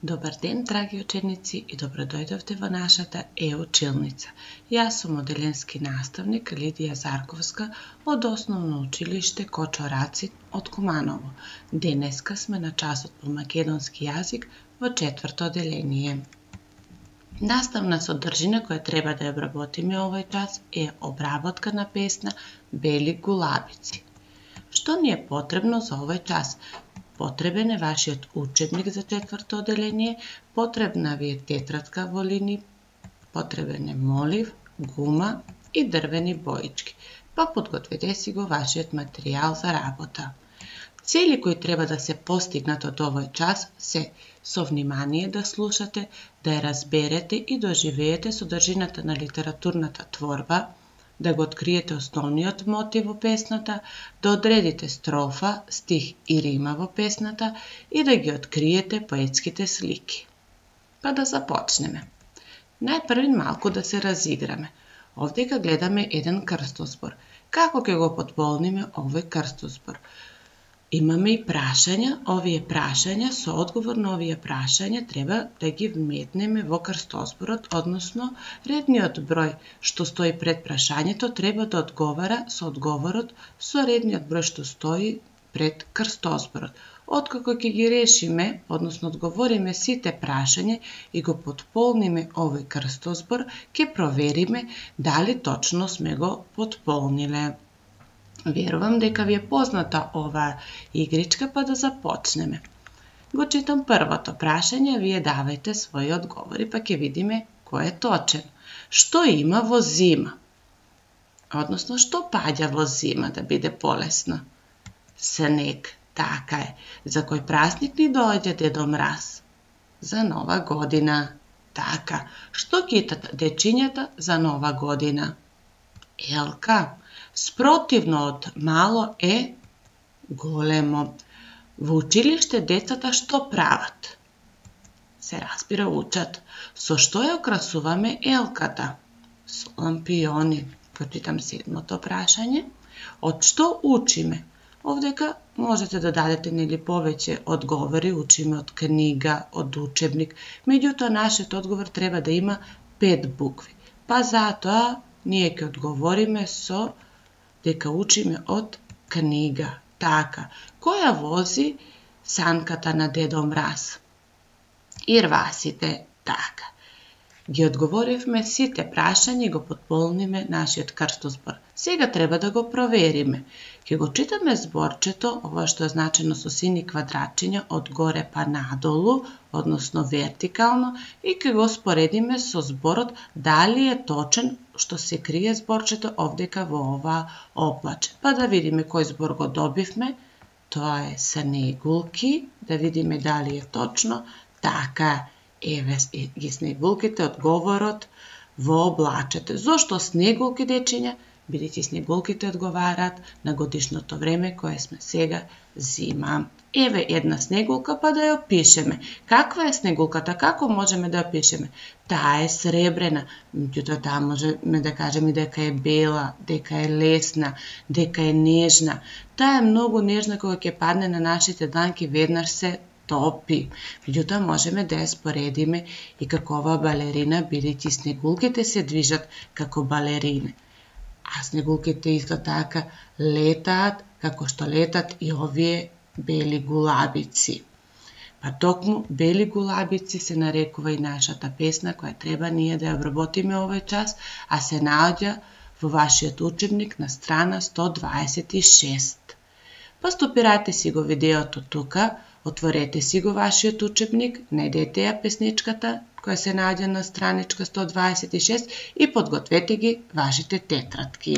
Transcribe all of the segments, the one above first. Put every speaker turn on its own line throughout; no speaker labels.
Добар ден, драги ученици, и добродојдовте во нашата училница. Јас сум оделенски наставник Лидија Зарковска од Основно училиште Кочораци од Куманово. Денеска сме на часот по македонски јазик во 4-то оделение. Наставна содржина која треба да ја обработиме овој час е обработка на песна Бели гулабици. Што ни е потребно за овој час? Потребен е вашиот учебник за 4-то оделение, потребна ви е тетрадка во линии, потребен е молив, гума и дрвени боички. Па подгответе си го вашиот материјал за работа. Цели кои треба да се постигнат од овој час се со внимание да слушате, да ја разберете и доживеете содржината на литературната творба, да го откриете основниот мотив во песната, да одредите строфа, стих и рима во песната и да ги откриете поетските слики. Па да започнеме. Најпрви малку да се разиграме. Овдека гледаме еден крстозбор. Како ќе го потполниме овој крстозбор? Имаме и прашања, овие прашања, со одговор на овие прашања треба да ги вметнеме во крстозборот, односно редниот број што стои пред прашањето треба да одговара со одговорот со редниот број што стои пред крстозборот. Откако ќе ги решиме, односно одговориме сите прашања и го потполниме овој крстозбор, ќе провериме дали точно сме го потполниле. Верувам дека ви е позната оваа игричка, па да започнеме. Го читам првото прашање, вие давајте своји одговори, па ќе видиме кој е точен. Што има во зима? Односно, што паѓа во зима, да биде полесно? Снег, така е. За кој празник ни доаѓа Дедо Мраз? За Нова година. Така. Што китат дечињата за Нова година? Елка. Спротивно од мало е големо. Во училиште децата што прават? Се разбира, учат. Со што ја украсуваме елката? Со лампиони. Прочитам 7-то прашање. Од што учиме? Овдека можете да дадете нели повеќе одговори, учиме од книга, од учебник. Меѓутоа, нашиот одговор треба да има 5 букви. Па затоа ние ќе одговориме со дека учиме од книга. Така. Која вози санката на Дедо Мраз? Ирвасите. Така. Ги одговоривме сите прашања и го потполниме нашиот крстозбор. Сега треба да го провериме. Ќе го читаме зборчето, ова што е значено со сини квадратчиња од горе па надолу, односно вертикално, и ќе го споредиме со зборот дали е точен што се крие зборчето овдека во оваа оплаче. Па да видиме кој збор го добивме. Тоа е снегулки, да видиме дали е точно. Така, еве ги снегулките, одговорот во облачето. Зошто снегулки, дечиња? Бидејќи снегулките одговараат на годишното време кое сме сега, зима. Еве една снегулка, па да ја опишеме. Каква е снегулката? Како можеме да ја опишеме? Таа е сребрена, меѓутоа таа можеме да кажеме дека е бела, дека е лесна, дека е нежна. Таа е многу нежна кога ќе падне на нашите дланки, веднаш се топи. Меѓутоа можеме да ја споредиме и како оваа балерина, бидејќи снегулките се движат како балерини. А снегулките исто така летаат, како што летат и овие бели гулабици. Па токму бели гулабици се нарекува и нашата песна која треба ние да ја обработиме овој час, а се наоѓа во вашиот учебник на страна 126. Па стопирајте си го видеото тука, отворете си го вашиот учебник, најдете ја песничката која се наоѓа на страничка 126 и подгответе ги вашите тетрадки.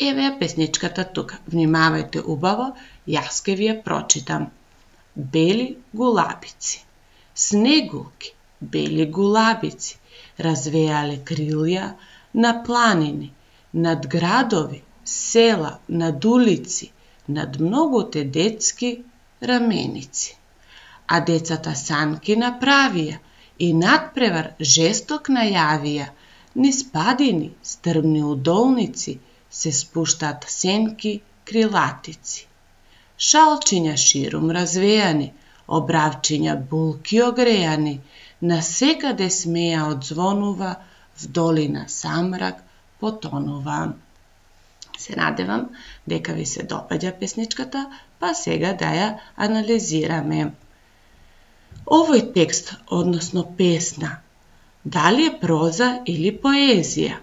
Еве ја песничката тука. Внимавајте убаво, јас ке ви ја прочитам. Бели гулабици, снегулки, бели гулабици, развеале крилја на планини, над градови, села, над улици, над многуте детски раменици. А децата санки направија и надпревар жесток најавија, низ падини, стрмни удолници, се спуштаат сенки крилатици. Шалчиња ширум развејани, обравчиња булки огрејани, насекаде смеја одзвонува, в долина самрак потонува. Се надевам дека ви се допаѓа песничката, па сега да ја анализираме. Овој текст, односно песна, дали е проза или поезија?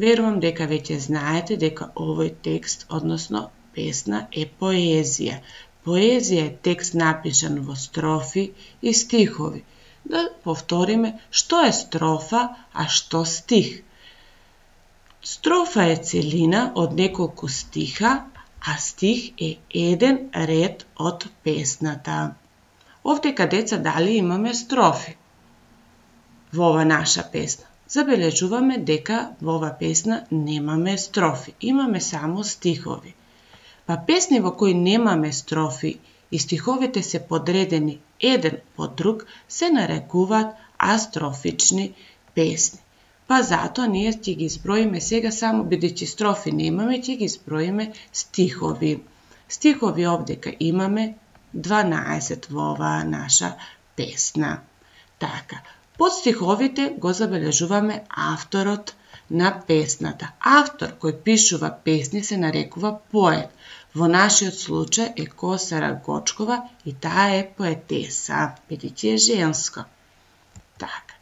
Верувам дека веќе знаете дека овој текст, односно песна, е поезија. Поезија е текст напишан во строфи и стихови. Да повториме што е строфа, а што стих. Строфа е целина од неколку стиха, а стих е еден ред од песната. Овдека, деца, дали имаме строфи во ова наша песна? Забележуваме дека во ова песна немаме строфи, имаме само стихови. Па песни во кои немаме строфи и стиховите се подредени еден по друг се нарекуваат астрофични песни. Па затоа ние ќе ги изброиме сега само, бидејќи строфи немаме, ќе ги изброиме стихови. Стихови овдека имаме 12 во оваа наша песна. Така, под стиховите го забележуваме авторот на песната. Автор кој пишува песни се нарекува поет. Во нашиот случај е Косара Гочкова и таа е поетеса, бидејќи е женско. Така,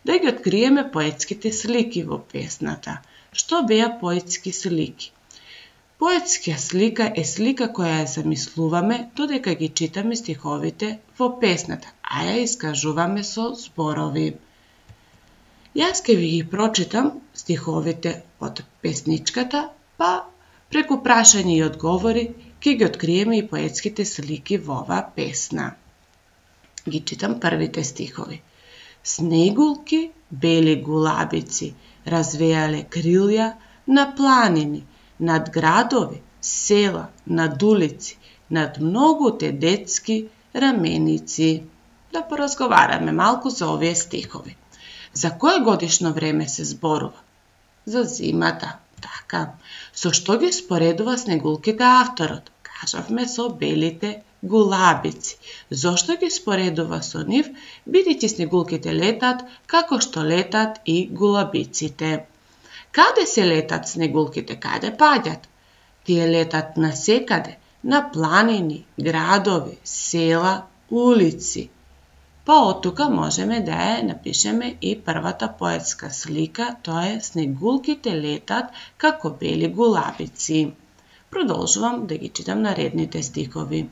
да ги откриеме поетските слики во песната. Што беа поетски слики? Поетска слика е слика која ја замислуваме додека ги читаме стиховите во песната, а ја искажуваме со зборови. Јас ќе ви ги прочитам стиховите од песничката, па преку прашања и одговори ќе ги откриеме и поетските слики во оваа песна. Ги читам првите стихови. Снегулки, бели гулабици, развеале крилја на планини, над градови, села, над улици, над многуте детски раменици. Да поразговараме малку за овие стихови. За кое годишно време се зборува? За зимата. Така. Со што ги споредува снегулките авторот? Кажавме со белите гулабици. Зошто ги споредува со нив? Бидејќи снегулките летат како што летат и гулабиците. Каде се летат снегулките? Каде паѓат? Тие летат насекаде, на планини, градови, села, улици. Па од тука можеме да ја напишеме и првата поетска слика, тоа е снегулките летат како бели гулабици. Продолжувам да ги читам наредните стихови.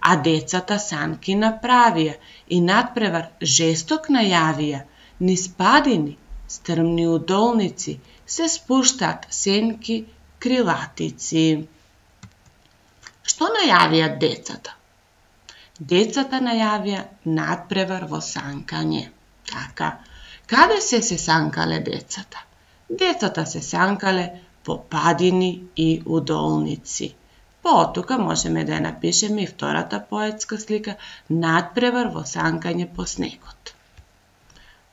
А децата санки направија и надпревар жесток најавија, низ падини, стрмни удолници, се спуштаат сенки крилатици. Што најавија децата? Децата најавија надпревар во санкање. Така, каде се санкале децата? Децата се санкале по падини и удолници. По тука можеме да ја напишеме и втората поетска слика надпревар во санкање по снегот.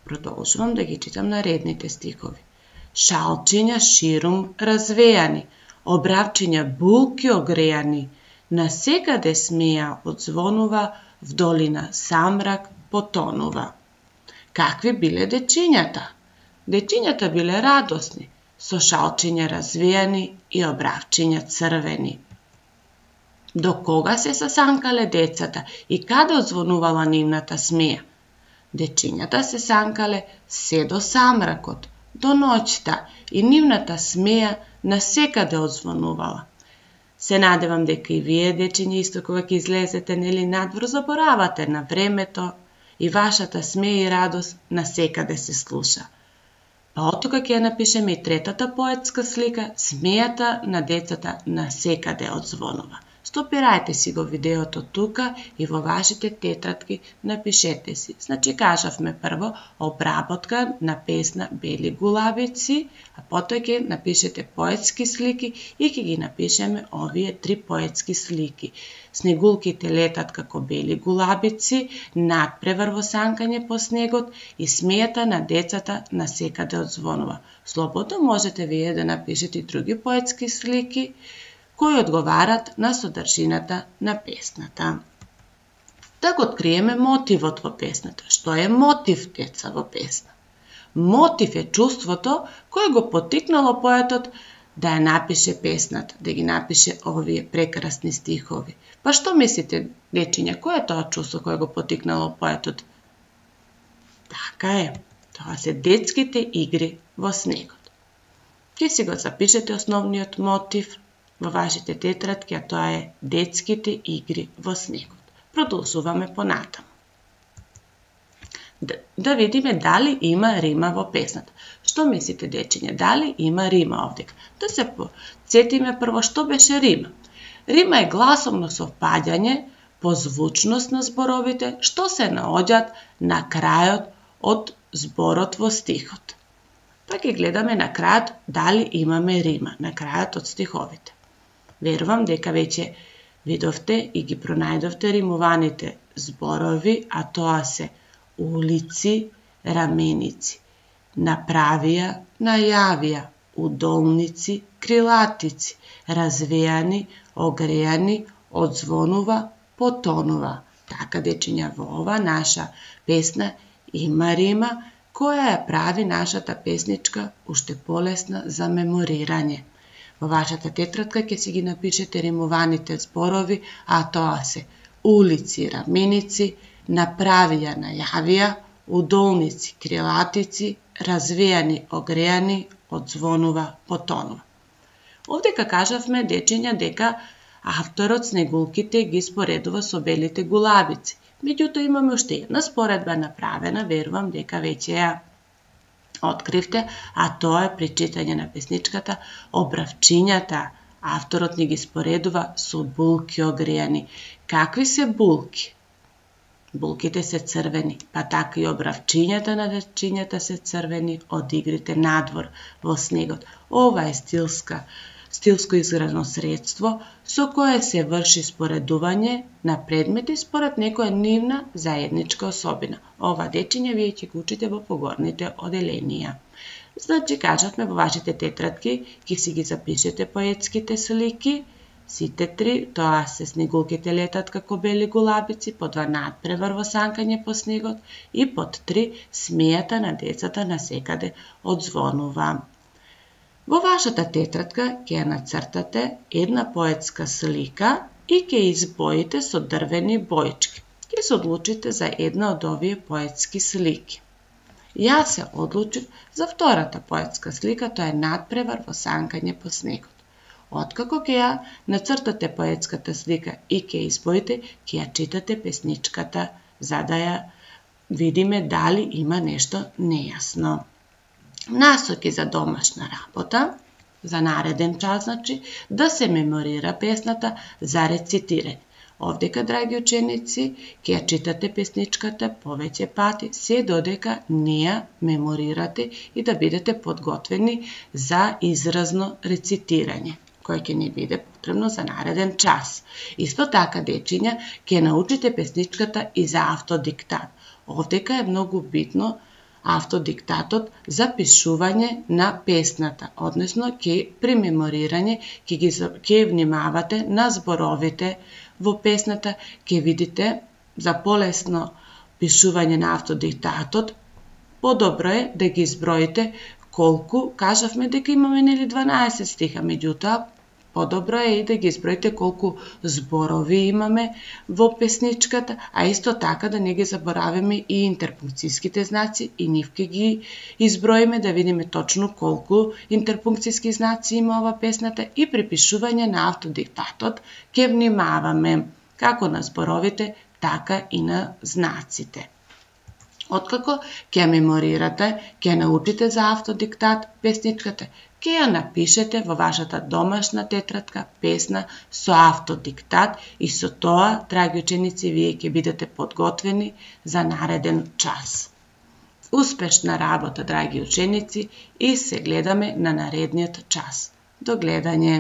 Продолжувам да ги читам наредните стихови. Шалчиња ширум развејани, обравчиња булки огрејани, насекаде смеја одзвонува, в долина самрак потонува. Какви биле дечињата? Дечињата биле радосни, со шалчиња развејани и обравчиња црвени. До кога се сасанкале децата и каде одзвонувала нивната смеја? Дечињата се санкале се до самракот, до ноќта и нивната смеја насекаде одзвонувала. Се надевам дека и вие, дечиња, исто кога ќе излезете нели надвор, заборавате на времето и вашата смеја и радост насекаде се слуша. Па оттука ќе ја напишеме и третата поетска слика, смејата на децата насекаде одзвонува. Стопирајте си го видеото тука и во вашите тетрадки напишете си. Значи, кажавме прво обработка на песна Бели гулабици, а потоа ќе напишете поетски слики и ќе ги напишеме овие три поетски слики. Снегулките летат како бели гулабици, надпревар во санкање по снегот и смејата на децата насекаде одзвонува. Слободно можете вие да напишете и други поетски слики кои одговарат на содржината на песната. да го откриеме мотивот во песната. Што е мотив, деца, во песна? Мотив е чувството кое го поттикнало поетот да ја напише песната, да ги напише овие прекрасни стихови. Па што мислите, дечиња, кој е тоа чувство кое го поттикнало поетот? Така е, тоа се детските игри во снегот. Ке си го запишете основниот мотив во вашите тетрадки, а тоа е детските игри во снегот. Продолжуваме понатаму. Да видиме дали има рима во песната. Што мислите, дечиња, дали има рима овде? Да се подсетиме прво што беше рима. Рима е гласовно совпаѓање по звучност на зборовите што се наоѓаат на крајот од зборот во стихот. Па ќе гледаме на крајот дали имаме рима, на крајот од стиховите. Верувам дека веќе видовте и ги пронајдовте римуваните зборови, а тоа се улици, раменици, направија, најавија, удолници, крилатици, развејани, огрејани, одзвонува, потонува. Така, дечиња, во ова наша песна има рима која ја прави нашата песничка уште полесна за меморирање. Во вашата тетрадка ќе си ги напишете римуваните зборови, а тоа се улици, раменици, направија, најавија, удолници, крилатици, развејани, огрејани, одзвонува, потонува. Овдека кажавме, дечиња, дека авторот снегулките ги споредува со белите гулабици. Меѓутоа имаме уште една споредба направена, верувам дека веќе ја откривте, а тоа е при читање на песничката обравчињата. Авторот ни ги споредува со булки огрејани. Какви се булки? Булките се црвени, па така и обравчињата на дечињата се црвени од игрите надвор во снегот. Ова е стилско изградено средство со кое се врши споредување на предмети според некоја нивна заедничка особина. Ова, дечиња, вие ќе го учите во погорните оделенија. Значи, кажавме во вашите тетрадки, ќе си ги запишете поетските слики, сите три, тоа се снегулките летат како бели гулабици, по 2 надпревар во санкање по снегот и под 3 смејата на децата насекаде одзвонува. Во вашата тетрадка ќе ја нацртате една поетска слика и ќе избоите со дрвени боички. Ќе се одлучите за една од овие поетски слики. Јас се одлучив за втората поетска слика, тоа е надпревар во санкање по снегот. Откако ќе ја нацртате поетската слика и ќе избоите, ќе ја читате песничката, за да ја видиме дали има нешто нејасно. Насоки за домашна работа, за нареден час, значи, да се меморира песната за рецитирање. Овдека, драги ученици, ќе ја читате песничката повеќе пати, се додека не ја меморирате и да бидете подготвени за изразно рецитирање, кој ќе ни биде потребно за нареден час. Исто така, дечиња, ќе научите песничката и за автодиктат. Овдека е многу битно автодиктатот за пишување на песната, односно при меморирање ќе внимавате на зборовите во песната, ќе видите за полесно пишување на автодиктатот, подобро е да ги изброите колку, кажавме дека имаме 12 стиха, меѓутоа подобро е и да ги изброите колку зборови имаме во песничката, а исто така да не ги забораваме и интерпункцијските знаци, и нив ќе ги изброиме да видиме точно колку интерпункцијски знаци има ова песната и при пишување на автодиктатот ќе внимаваме како на зборовите, така и на знаците. Откако ќе ја меморирате, ќе ја научите за автодиктат песничката, ќе ја напишете во вашата домашна тетрадка песна со автодиктат и со тоа, драги ученици, вие ќе бидете подготвени за нареден час. Успешна работа, драги ученици, и се гледаме на наредниот час. До гледање!